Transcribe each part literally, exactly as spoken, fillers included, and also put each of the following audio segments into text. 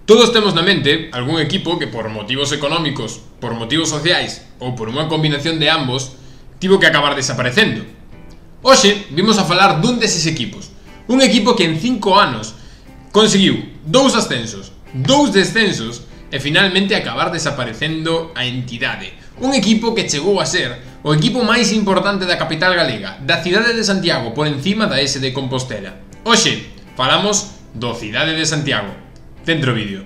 Todos temos na mente algún equipo que por motivos económicos, por motivos sociais ou por unha combinación de ambos tivo que acabar desaparecendo. Hoxe vimos a falar dun deses equipos, un equipo que en cinco anos conseguiu dous ascensos, dous descensos e finalmente acabar desaparecendo a entidade. Un equipo que chegou a ser o equipo máis importante da capital galega, da cidade de Santiago, por encima da S D Compostela. Hoxe falamos do Cidade de Santiago. Dentro vídeo.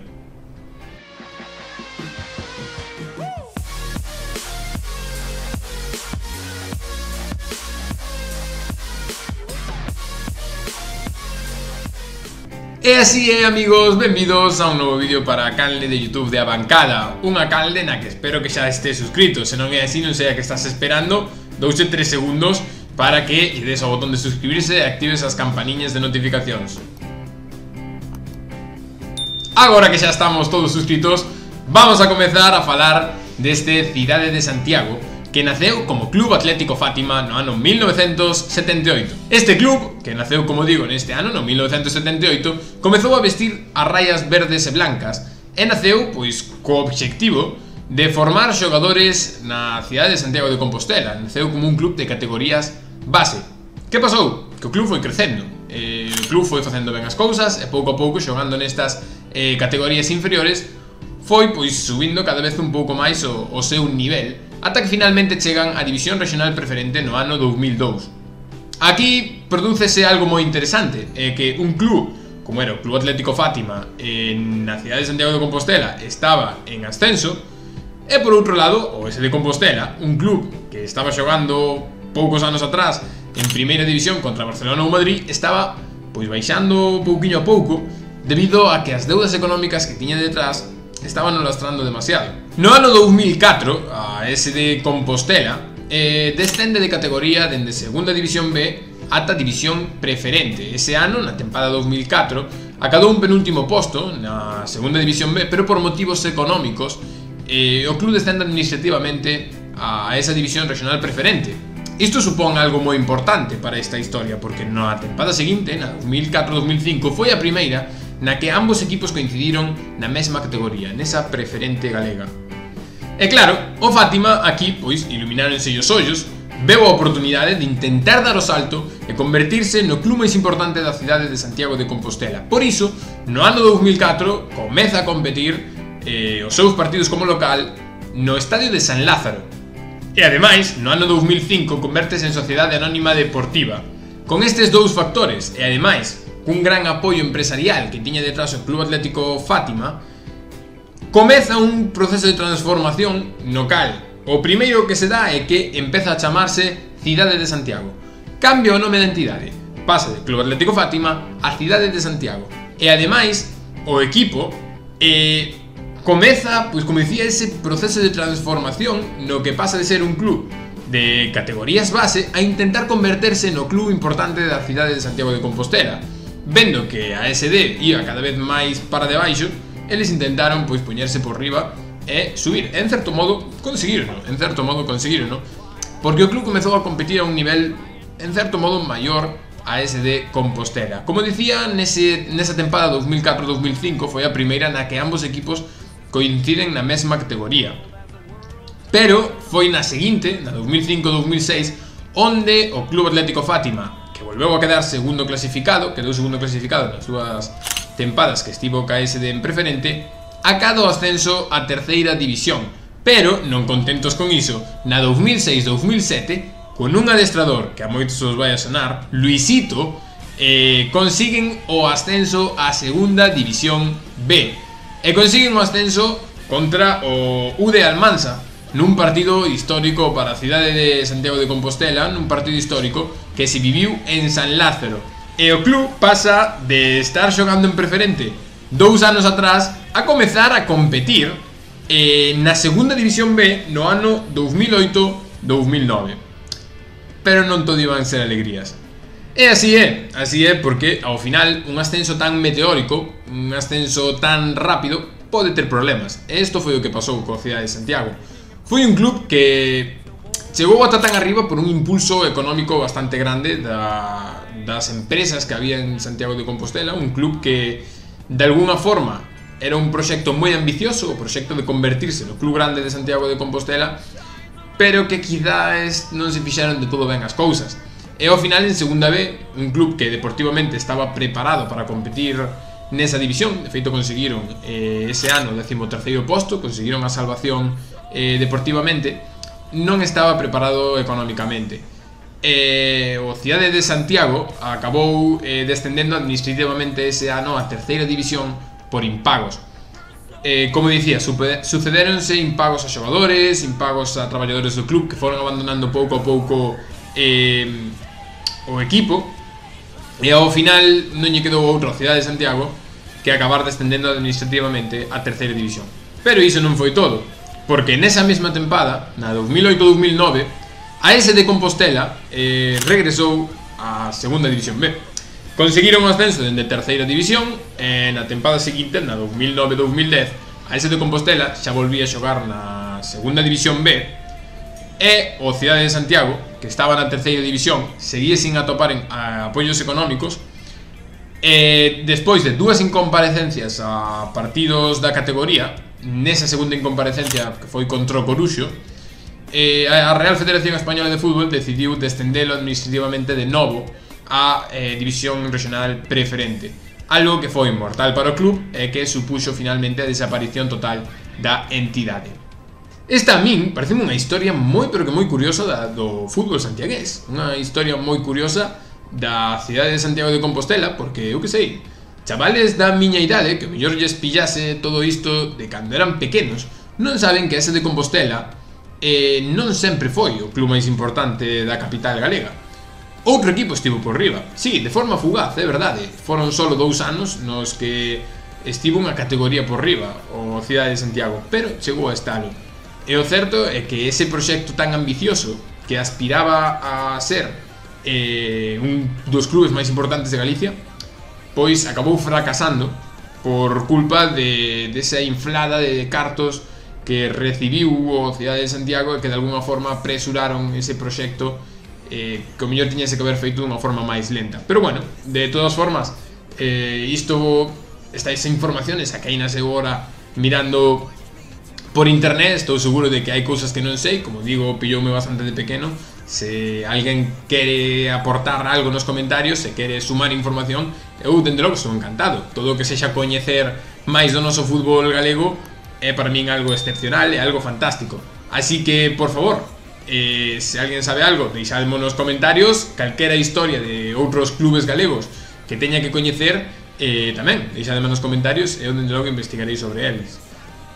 E así é, amigos, benvidos a un novo vídeo para a canle de YouTube de A Bancada. Unha canle na que espero que xa estés suscrito. Se non é así, non sei a que estás esperando. Douche tres segundos para que lle des ao botón de suscribirse e actives as campaniñas de notificacións. Agora que xa estamos todos suscritos, vamos a comezar a falar deste Cidade de Santiago, que naceu como Club Atlético Fátima no ano mil novecentos setenta e oito. Este club, que naceu, como digo, neste ano, no mil novecentos setenta e oito, comezou a vestir as raias verdes e blancas e naceu, pois, co obxectivo de formar xogadores na cidade de Santiago de Compostela. Naceu como un club de categorías base. Que pasou? Que o club foi crecendo. Eh, o club foi facendo ben as cousas e pouco a pouco, xogando nestas eh, categorías inferiores, foi pois subindo cada vez un pouco máis o, o seu nivel, ata que finalmente chegan á División Regional Preferente no ano dous mil dous. Aquí prodúcese algo moi interesante, é que un club como era o Club Atlético Fátima en na cidade de Santiago de Compostela estaba en ascenso, e por outro lado o S D Compostela, un club que estaba xogando poucos anos atrás en primeira división contra Barcelona ou Madrid, estaba pois baixando pouquiño a pouco debido a que as deudas económicas que tiña detrás estaban lastrando demasiado. No ano dous mil catro, a S D Compostela eh, descende de categoría dende segunda división B ata división preferente. Ese ano, na tempada dous mil catro, acadou un penúltimo posto na segunda división B, pero por motivos económicos eh, o club descende administrativamente a esa división regional preferente. Isto supón algo moi importante para esta historia, porque na tempada seguinte, na dous mil catro dous mil cinco, foi a primeira na que ambos equipos coincidiron na mesma categoría, nesa preferente galega. E claro, o Fátima aquí, pois, ilumináronse os ollos, veu a oportunidade de intentar dar o salto e convertirse no club máis importante da cidade de Santiago de Compostela. Por iso, no ano dous mil catro, comeza a competir eh, os seus partidos como local no estadio de San Lázaro. E ademais, no ano dous mil cinco convértese en Sociedade Anónima Deportiva. Con estes dous factores, e ademais cun gran apoio empresarial que tiña detrás o Club Atlético Fátima, comeza un proceso de transformación no cal o primeiro que se dá é que empeza a chamarse Cidade de Santiago. Cambia o nome da entidade, pasa de Club Atlético Fátima a Cidade de Santiago. E ademais, o equipo eh, comeza, pois como dicía, ese proceso de transformación no que pasa de ser un club de categorías base a intentar converterse no club importante da cidade de Santiago de Compostela. Vendo que a S D ia cada vez máis para debaixo, eles intentaron pois poñerse por riba e subir. En certo modo conseguirono, en certo modo conseguirono, porque o club comezou a competir a un nivel en certo modo maior a S D Compostela. Como dicía, nese, nesa tempada dous mil catro dous mil cinco foi a primeira na que ambos equipos coinciden na mesma categoría. Pero foi na seguinte, na dous mil cinco dous mil seis, onde o Club Atlético Fátima, que volveu a quedar segundo clasificado, quedou segundo clasificado nas súas tempadas que estivo ca S D en preferente, acada o ascenso a terceira división. Pero, non contentos con iso, na dous mil seis dous mil sete, con un adestrador que a moitos os vai a sonar, Luisito, eh, consiguen o ascenso a segunda división B. E consiguen o ascenso contra o U D Almansa, nun partido histórico para a cidade de Santiago de Compostela, nun partido histórico que se viviu en San Lázaro. E o club pasa de estar xogando en preferente dous anos atrás a comezar a competir eh, na segunda división B no ano dous mil oito dous mil nove. Pero non todo iban ser alegrías. E así é, así é porque ao final un ascenso tan meteórico, un ascenso tan rápido, pode ter problemas. E isto foi o que pasou coa cidade de Santiago. Foi un club que chegou ata tan arriba por un impulso económico bastante grande da, das empresas que había en Santiago de Compostela. Un club que de alguna forma era un proxecto moi ambicioso, o proxecto de convertirse no Club Grande de Santiago de Compostela, pero que quizás non se fixeron de todo ben as cousas. E ao final, en segunda B, un club que deportivamente estaba preparado para competir nesa división, de feito conseguiron eh, ese ano o décimo terceiro posto, conseguiron a salvación eh, deportivamente, non estaba preparado económicamente. Eh, o Cidade de Santiago acabou eh, descendendo administrativamente ese ano a terceira división por impagos. Eh, como dicía, sucederonse impagos a xogadores, impagos a traballadores do club que foron abandonando pouco a pouco eh, o equipo, e ao final non lle quedou outra Cidade de Santiago que acabar descendendo administrativamente a terceira división. Pero iso non foi todo, porque nesa mesma tempada, na dos mil oito dos mil nove, a ese de Compostela eh, regresou a segunda división B. Conseguiron o ascenso dende terceira división e na tempada seguinte, na dos mil nove dos mil dez, a ese de Compostela xa volvía a xogar na segunda división B e o Cidade de Santiago, que estaba na terceira división, seguía sin atopar en, a, apoios económicos e despois de dúas incomparecencias a partidos da categoría, nesa segunda incomparecencia que foi contra o Coruxo, Eh, a Real Federación Española de Fútbol decidiu descendelo administrativamente de novo a eh, División Regional Preferente, algo que foi mortal para o club e que supuxo finalmente a desaparición total da entidade. Esta a min parece unha historia moi pero que moi curiosa da, do fútbol santiagués, unha historia moi curiosa da cidade de Santiago de Compostela, porque eu que sei, chavales da miña idade que mellor lles pillase todo isto de cando eran pequenos non saben que ese de Compostela Eh, non sempre foi o club máis importante da capital galega. Outro equipo estivo por riba, sí, de forma fugaz, é verdade. Foron solo dous anos nos que estivo unha categoría por riba o Cidade de Santiago, pero chegou a estalo. E o certo é que ese proxecto tan ambicioso que aspiraba a ser eh, un dos clubes máis importantes de Galicia, pois acabou fracasando por culpa de, de esa inflada de cartos que recibiu o Cidade de Santiago e que de alguna forma apresuraron ese proxecto eh, que o mellor tiñase que haber feito dunha forma máis lenta. Pero bueno, de todas formas, eh, isto, esta esa información, esa que hai na segura mirando por internet, estou seguro de que hai cousas que non sei, como digo, pilloume bastante de pequeno. Se alguén quere aportar algo nos comentarios, se quere sumar información, eu dende logo estou encantado. Todo o que sexa coñecer máis do noso fútbol galego é para min algo excepcional, é algo fantástico. Así que, por favor, eh, se alguén sabe algo, deixadmo nos comentarios. Calquera historia de outros clubes galegos que teña que coñecer, eh, tamén deixadme nos comentarios e eu dende logo investigarei sobre eles.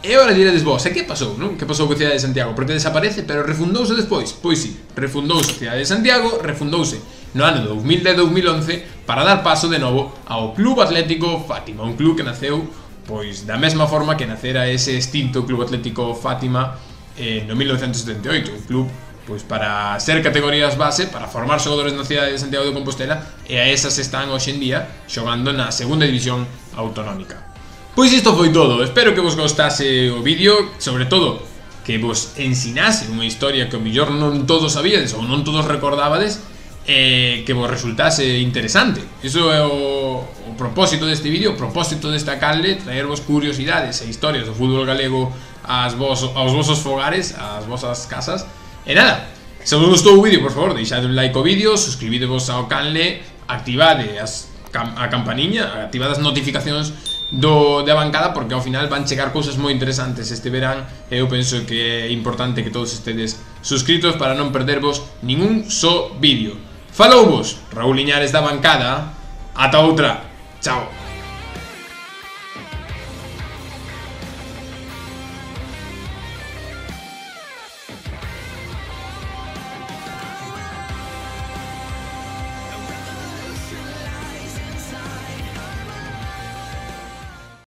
E agora diredes vos, e que pasou, non? Que pasou co Cidade de Santiago? Porque desaparece, pero refundouse despois? Pois sí, refundouse o Cidade de Santiago, refundouse no ano dos mil dez dos mil once para dar paso de novo ao Club Atlético Fátima, un club que naceu pois da mesma forma que nacera ese extinto Club Atlético Fátima eh, no mil novecentos setenta e oito, un club pois para ser categorías base, para formar xogadores na cidade de Santiago de Compostela, e a esas están hoxe en día xogando na segunda división autonómica. Pois isto foi todo, espero que vos gostase o vídeo, sobre todo que vos ensinase unha historia que o mellor non todos sabíades ou non todos recordabades, e que vos resultase interesante. Iso é o, o propósito deste vídeo, o propósito desta canle, traervos curiosidades e historias do fútbol galego aos, vos, aos vosos fogares, ás vosas casas. E nada, se vos gustou o vídeo, por favor, deixade un like ao vídeo, suscribidevos ao canle, activade as, a campaniña, activade as notificacións do, da bancada, porque ao final van chegar cousas moi interesantes este verán, e eu penso que é importante que todos estedes suscritos para non perdervos ningún só vídeo. Falou vos Raúl Liñares da bancada. Ata outra. Chao.